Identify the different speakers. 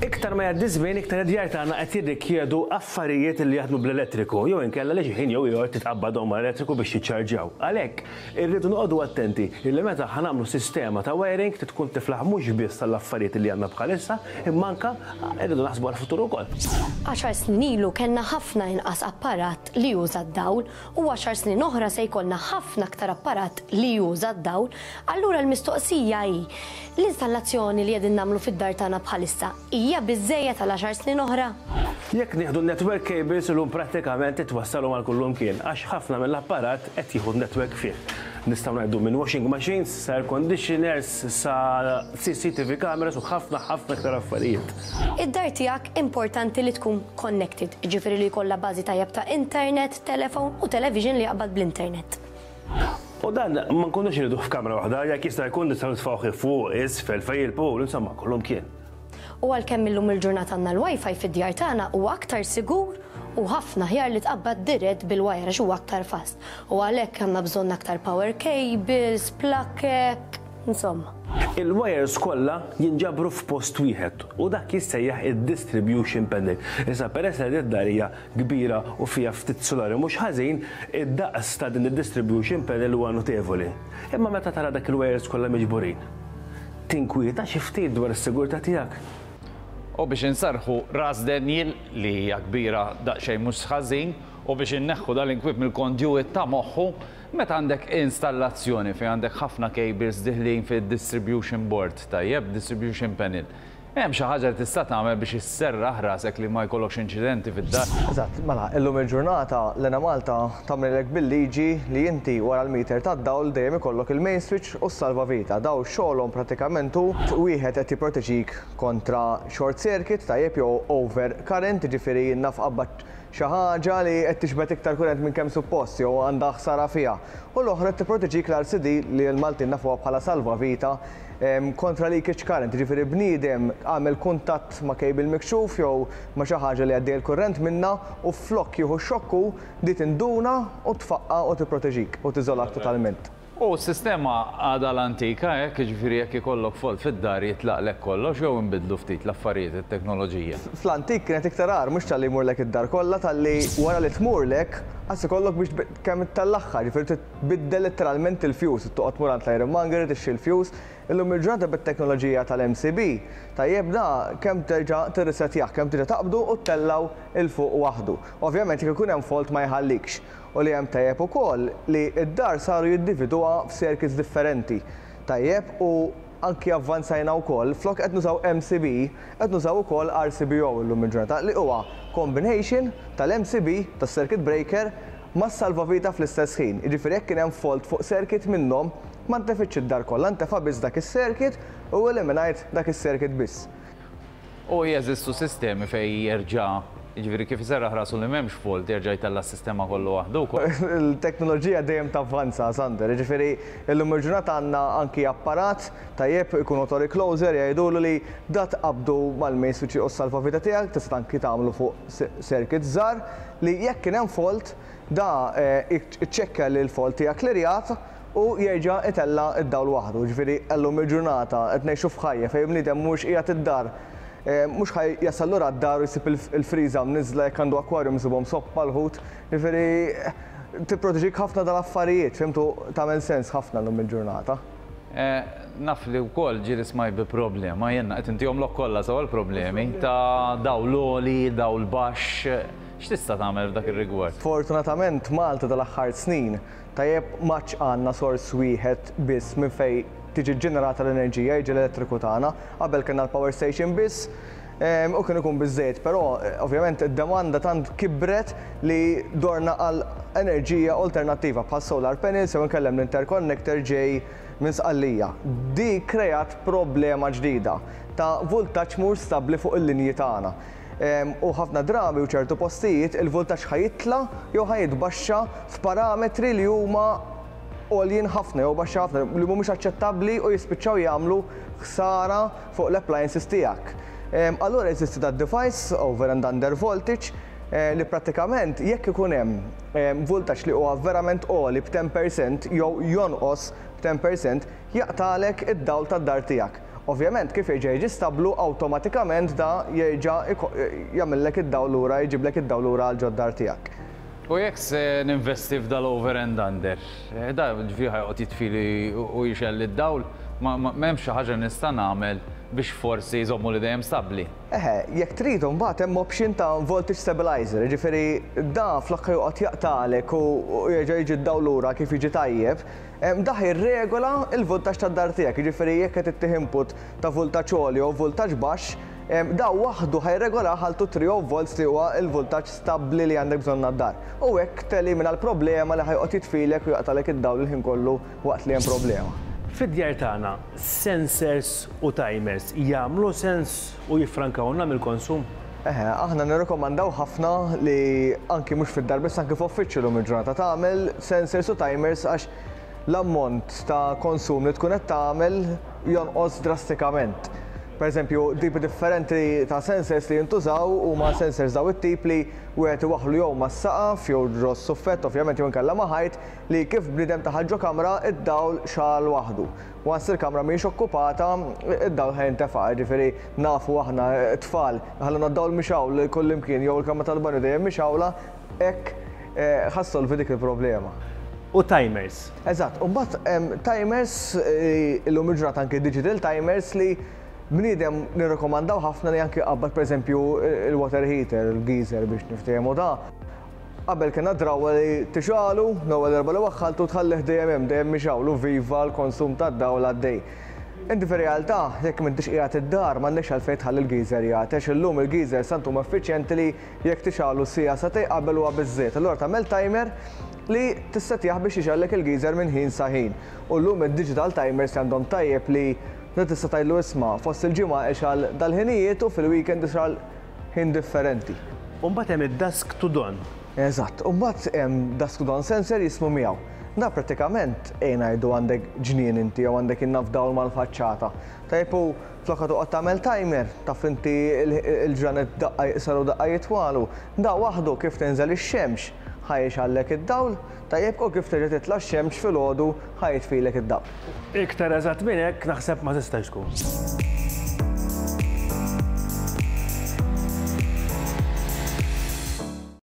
Speaker 1: Iktar ma jgħaddi żmien, iktar id-djar tagħna qed jirrikjedu affarijiet li jaħdmu bl-elettriku jew inkella li xi ħin jew ieħor titqabbadhom mal-elettriku biex jiċċarġjaw. Għalhekk, irridu noqogħdu attenti illi meta ħa nagħmlu sistema ta' wiring trid tkun tiflaħ mhux biss għall-affarijiet li għandna bħalissa, imma anke irridu naħsbu għall-futur ukoll.
Speaker 2: Għaxar snin ilu kellna ħafna inqas apparat li juża d-dawl u għaxar snin oħra se jkollna ħafna aktar apparat li juża d-dawl, allura l-mistoqsija hi, l-installazzjoni li qegħdin nagħmlu fid-dar tagħna bħalissa hija biżżejjed għal għaxar snin oħra?
Speaker 1: Jekk nieħdu n-network cables illum prattikament titwassalhom għal kullimkien għax ħafna mill-apparat qed jieħu n-network fih. Nistgħu ngħidu minn washing machines sa air conditioners sa CCTV cameras u ħafna ħafna iktar affarijiet.
Speaker 2: Id-dar tiegħek importanti li tkun connected, jiġifieri li jkollha bażi tajjeb ta' internet, telephone u television li jaqbad bl-internet.
Speaker 1: U dan ma nkunux irriduh f'kamra waħda, jekk jista' jkun nistgħu nitfgħuh fuq, isfel, fejn il-pool, insomma kullumkien.
Speaker 2: U għalkemm illum il-ġurnata għandna l-WiFi fid-djar tagħna huwa aktar sigur u ħafna aħjar li tqabbad dirett bil-wire għax huwa aktar fast. U għalhekk għandna bżonn aktar power cables, plakek, insomma.
Speaker 1: Il-wires kollha jinġabru f'post wieħed u dak jissejjaħ id-distribution panel. Issa peress li din id-dar hija kbira u fiha ftit sulari mhux ħażin, id-daqs ta' din id-distribution panel huwa notevoli. Imma meta tara dak il-wires kollha miġburin, tinkwieta xi ftit dwar is-sigurtà tiegħek.
Speaker 3: U biex inserrħu ras Daniel, li hija kbira daqsxejn mhux ħażin, u biex inneħħu dal-inkwiet mill-conduit ta' moħħu, meta għandek installazzjoni fejn għandek ħafna cables diħlin fid-distribution board, tajjeb, distribution panel, hemm xi ħaġa li tista' tagħmel biex isserraħ rasek li ma jkollokx inċidenti fid-dar?
Speaker 4: Eżatt, mela, illum il-ġurnata l-Enemalta tagħmlilek bil-liġi li inti wara l-meter tad-dawl dejjem ikollok il-main switch u s-salvavita. Dawn xogħolhom pratikament hu wieħed qed jipproteġik kontra short circuit, tajjeb, jew over current, jiġifieri naf qabbadt xi ħaġa li qed tixbet iktar kurrent minn kemm suppost jew għandha ħsara fiha, u l-oħra qed tipproteġik l-RCD li l-Maltin nafuha bħala salvavita kontra leakage current, jiġifieri bniedem għamel kuntatt ma' cable mikxuf jew ma' xi ħaġa li għaddej il-kurrent minnha u flok jieħu x-xokk hu, di tinduna u tfaqqa' u tipproteġik u tiżolak totalment.
Speaker 3: U s-sistema għadha l-antika hekk, jiġifieri jekk ikollok fault fid-dar jitlaqlek kollox jew inbidlu ftit l-affarijiet, it-teknoloġija?
Speaker 4: Fl-antik kienet iktar agħar, mhux talli jmurlek id-dar kollha, talli wara li tmurlek qas ikollok biex kemm ittellagħha, jiġifieri trid tbiddel letteralment il-fuse, toqgħod tmur għand l-ironmonger tixtri l-fuse. Illum il-ġurnata bit-teknoloġija tal-MCB, tajjeb da kemm terġa' tirrisettjah, kemm terġa' taqbdu u ttellgħu 'l fuq waħdu. Ovvjament jekk ikun hemm fault ma jħallikx. U li hemm tajjeb ukoll li d-dar saru jiddividuha f'circuits differenti. Tajjeb u anki avvanzajna wkoll, flok qed nużaw MCB, qed nużaw ukoll RCBO illum il-ġurnata li huwa combination tal-MCB, tas-circuit breaker, mas-salvavita fl-istess ħin. Jiġifieri jekk kien hemm fault fuq circuit minnhom, ma ntefitx id-dar kollha, ntefa' biss dak is-circuit u eliminajt dak is-circuit biss.
Speaker 3: U jeżistu sistemi fejn jerġa', jiġifieri kif iserraħ rasu li m'hemmx fault jerġa' jtella' s-sistema kollu waħdu wkoll.
Speaker 4: Il-teknoloġija dejjem tavvanza, Sander, jiġifieri llum il-ġurnata għandna anki apparat, tajjeb, ikun auto recloser jgħidulu li da tqabbdu mal-main switch u s-salvavita tiegħek, tista' anki tagħmlu fuq circuits żgħar li jekk kien hemm fault da iċċekkja li l-fault hija klirjat u jerġa' itella' d-dawl waħdu. Jiġifieri llum il-ġurnata qed ngħixu f'ħajja fejn bniedem mhuwiex qiegħed id-dar, mhux ħa jasal lura d-dar u jsib il-friża mniżżla jekk għandu akwarjum isibhom soppa l-ħut. Jiġifieri tipproteġik ħafna dal-affarijiet, fhimt, u tagħmel sens ħafna llum il-ġurnata.
Speaker 3: Naf li wkoll ġieli smajt bi problema, jien qed intihomlok kollha sewa l-problemi, ta' dawl għoli, dawl baxx, x'tista' tagħmel f'dak ir-rigward?
Speaker 4: Sfortunatament Malta dal-aħħar snin Tajjeb, m'għadx għandna sors wieħed biss minn fejn tiġi ġġenerata l-enerġija, jiġi l-elettriku tagħna. Qabel kellna l-power station biss u kien ikun biżżejjed, però ovvjament id-demanda tant kibret li dorna għal enerġija alternattiva bħal solar panels jew inkella hemm l-interconnector ġej minn Sqallija. Di kkreat problema ġdida ta' vultaġġ mhux stabbli fuq il-linji tagħna. U ħafna drabi u ċertu postijiet il-vultaġġ ħa jitla' jew ħa jitbaxxa f'parametri li huma għoljin ħafna jew baxxi ħafna li mhumiex aċċettabbli u jispiċċaw jagħmlu ħsara fuq l-appliances tiegħek. Allura jeżisti dad-device over and under voltage li prattikament jekk ikun hemm vultaġġ li huwa verament għoli b' 10% jew jonqos b' 10% jaqtagħlek id-dawl tad-dar tiegħek. Ovvjament kif jerġa' jiġi stabblu awtomatikament da jerġa' jagħmillek id-dawl lura, jġiblek id-dawl lura għal ġod-dar tiegħek.
Speaker 3: U jekk se ninvesti f'dal-over and under, da ġifieri ħa joqgħod jitfili u jixgħelli d-dawl, ma m'hemmx xi ħaġa nista' nagħmel biex forsi jżommuli dejjem stabbli?
Speaker 4: Eħe, jekk trid imbagħad hemm option ta' voltage stabilizer, jiġifieri da flok ħa joqgħod jaqtagħlek u jerġa' jiġi d-dawl lura kif jiġi tajjeb, da ħa jirregola l-vultaġġ tad-dar tiegħek, jiġifieri jekk qed ittih input ta' vultaġġ għoli jew vultaġġ baxx, da waħdu ħa jirregolah għal 230 volts li huwa l-vultaġġ stabbli li għandek bżonn għad-dar. U hekk telimina l-problema li ħa joqgħod jitfilek u jaqtagħlek id-dawl il-ħin kollu waqt li hemm problema.
Speaker 1: Fid-djar tagħna, sensors u timers jagħmlu sens u jiffrankawlna mill-konsum?
Speaker 4: Eħe, aħna nirrikomandaw ħafna li anki mhux fid-dar biss anki f'uffiċċju llum il-ġurnata tagħmel sensors u timers għax l-ammont ta' konsum li tkun qed tagħmel jonqos drastikament. Per eżempju, tipi differenti ta' sensors li jintużaw huma sensors daw it-tip li wieħed iwaħħlu jew mas-saqaf jew ġo s-suffett ovvjament jew inkella ma' ħajt li kif bniedem daħal ġo kamra id-dawl xagħal waħdu. Once il-kamra mhijiex okkupata, id-dawl ħa jintefa', jiġifieri nafu aħna t-tfal iħalluna d-dawl mixgħul kullimkien jew il-kamra tal-banju dejjem mixgħula, hekk ħa ssolvi dik il-problema.
Speaker 1: U timers.
Speaker 4: Eżatt, u mbagħad hemm timers illum il-ġurnata anki digital timers li bniedem nirrikomandaw ħafna li anki jqabbad pereżempju il-water heater, il-geyser biex niftehmu da. Qabel kellna d-drawwa li tixgħalu, l-ewwel darba li waħħaltu tħallih dejjem hemm, dejjem mixgħul u viva l-konsum tad-dawl għaddej. Inti fir-realtà, jekk m'intix qiegħed id-dar, m'għandekx għalfejn tħalli l-geyser jagħti għax illum il-geysers tant huma effiċjenti li jekk tixgħalu siegħa sagħtejn qabel huwa biżżejjed. Allura tagħmel timer li tissettjah biex jixgħallek il-geyser minn ħin sa ħin. U llum id-digital timers li għandhom tajjeb li tista' tgħidlu isma' fost il-ġimgħa ixgħal dal-ħinijiet u fil-weekend ixgħal ħin differenti.
Speaker 1: U mbagħad hemm id-dusk to dawn.
Speaker 4: Eżatt. U mbagħad hemm dusk to dawn sensor jismu miegħu. Dan prattikament, ejja ngħidu għandek ġnien inti jew għandek in-naf dawl mal-faċċata. Tajjeb u flok ħa toqgħod tagħmel timer, taf inti l-ġranet daqqa jiqsaru u daqqa jitwalu. Da waħdu kif tinżel ix-xemx ħa jixgħallek id-dawl, tajjeb u kif terġa' titla' x-xemx filgħodu ħa jitfilek id-dawl.
Speaker 1: Iktar eżatt minn hekk naħseb ma tistax tkun.